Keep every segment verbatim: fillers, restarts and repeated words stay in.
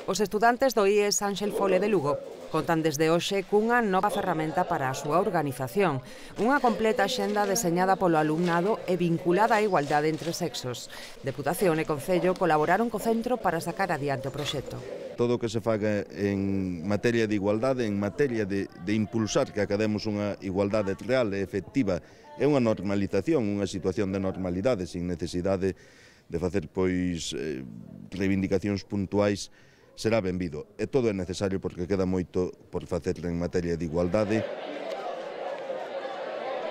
Os estudantes do I E S Ánxel Fole de Lugo contan desde hoxe cunha nova ferramenta para a súa organización, unha completa axenda deseñada polo alumnado e vinculada á igualdade entre sexos. Deputación e Concello colaboraron co centro para sacar adiante o proxecto. Todo o que se faga en materia de igualdade, en materia de, de impulsar que academos unha igualdade real e efectiva, é unha normalización, unha situación de normalidade, sin necesidade de facer pois eh, reivindicacións puntuais, será benvido. E todo é necesario porque queda moito por facer en materia de igualdade.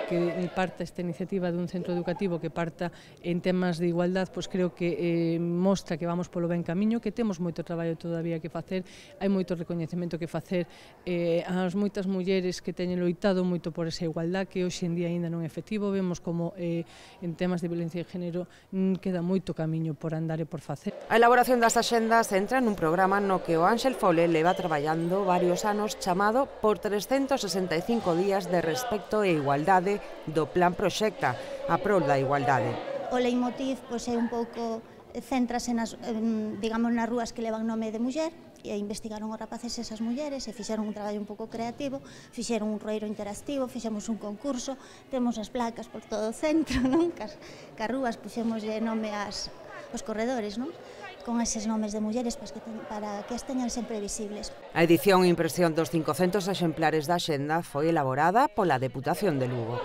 Que parta esta iniciativa dun centro educativo que parta en temas de igualdade, pois creo que eh, mostra que vamos polo ben camiño, que temos moito traballo todavía que facer, hai moito recoñecemento que facer eh, ás moitas mulleres que teñen loitado moito por esa igualdade, que hoxe en día aínda non é efectivo. Vemos como eh, en temas de violencia de género queda moito camiño por andar e por facer. A elaboración das axendas entra nun programa no que o Ánxel Fole leva traballando varios anos chamado por trescentos sesenta e cinco días de respecto e igualdade do Plan Proxecta, a prol da igualdade. O leitmotiv pois, é un pouco, céntrase nas, digamos, nas rúas que levan nome de muller, e investigaron os rapaces esas mulleres e fixeron un traballo un pouco creativo, fixeron un roeiro interactivo, fixemos un concurso, temos as placas por todo o centro, non? Cas, cas rúas puxemos nome ás, aos corredores, non? Con eses nomes de mulleres para que, para que as teñan sempre visibles. A edición e impresión dos cincocentos exemplares da axenda foi elaborada pola Deputación de Lugo.